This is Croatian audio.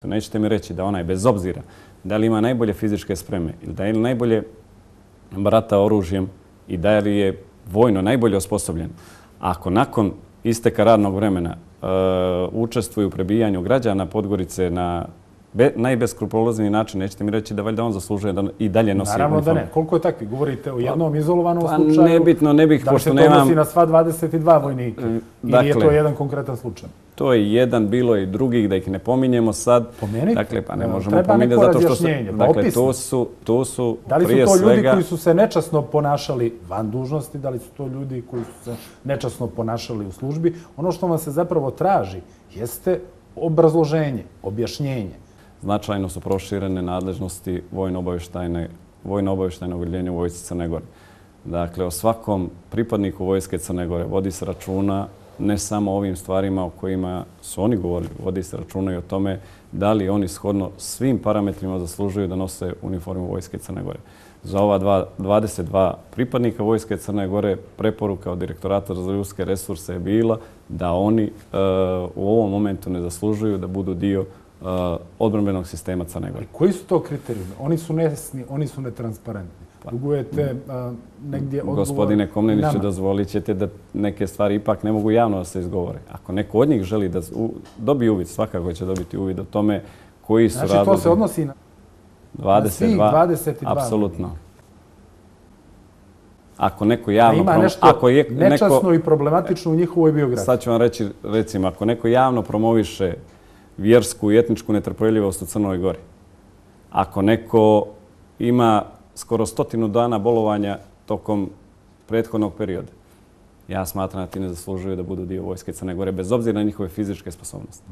Nećete mi reći da onaj, bez obzira da li ima najbolje fizičke spreme ili da je najbolje barata oružjem i da li je vojno najbolje osposobljen, ako nakon isteka radnog vremena učestvuju u prebijanju građana Podgorice na najbeskrupulozniji način, nećete mi reći da valjda on zaslužuje da i dalje nosi uniformu. Naravno da ne. Koliko je takvi? Govorite o jednom izolovanom slučaju? Nebitno, ne bih, pošto nemam... Da li se to odnosi na sva 22 vojnika? Ili je to jedan konkretan slučaj? To je jedan, bilo i drugih, da ih ne pominjemo sad. Pomenite. Dakle, pa ne možemo treba pominjati neko zato što razjašnjenje, dakle, to su da li su prije to ljudi svega... koji su se nečasno ponašali van dužnosti, da li su to ljudi koji su se nečasno ponašali u službi? Ono što vam se zapravo traži jeste obrazloženje, objašnjenje. Značajno su proširene nadležnosti vojno-obavještajnog odjeljenja u vojsci Crne Gore. Dakle, o svakom pripadniku vojske Crne Gore vodi se računa ne samo o ovim stvarima o kojima su oni govorili, vodi se računa i o tome da li oni shodno svim parametrima zaslužuju da nose uniformu vojske Crne Gore. Za ova 22 pripadnika vojske Crne Gore preporuka od Direktorata za ljudske resurse je bila da oni u ovom momentu ne zaslužuju da budu dio odbrambenog sistema Crne Gore. Koji su to kriterijumi? Oni su nesni, oni su netransparentni. Dugujete negdje odgovor. Gospodine Komneniću, dozvolit ćete da neke stvari ipak ne mogu javno da se izgovore. Ako neko od njih želi da dobije uvid, svakako će dobiti uvid o tome koji su razlozi. Znači, to se odnosi na 22? Apsolutno. Ako neko javno... Ima nešto nečasno i problematično u njihovoj biografiji. Sad ću vam reći, recimo, ako neko javno promoviše vjersku i etničku netrpeljivost u Crnoj Gori, ako neko ima skoro 100 dana bolovanja tokom prethodnog perioda, ja smatram da ti ne zaslužuju da budu dio vojske Crne Gore, bez obzira na njihove fizičke sposobnosti.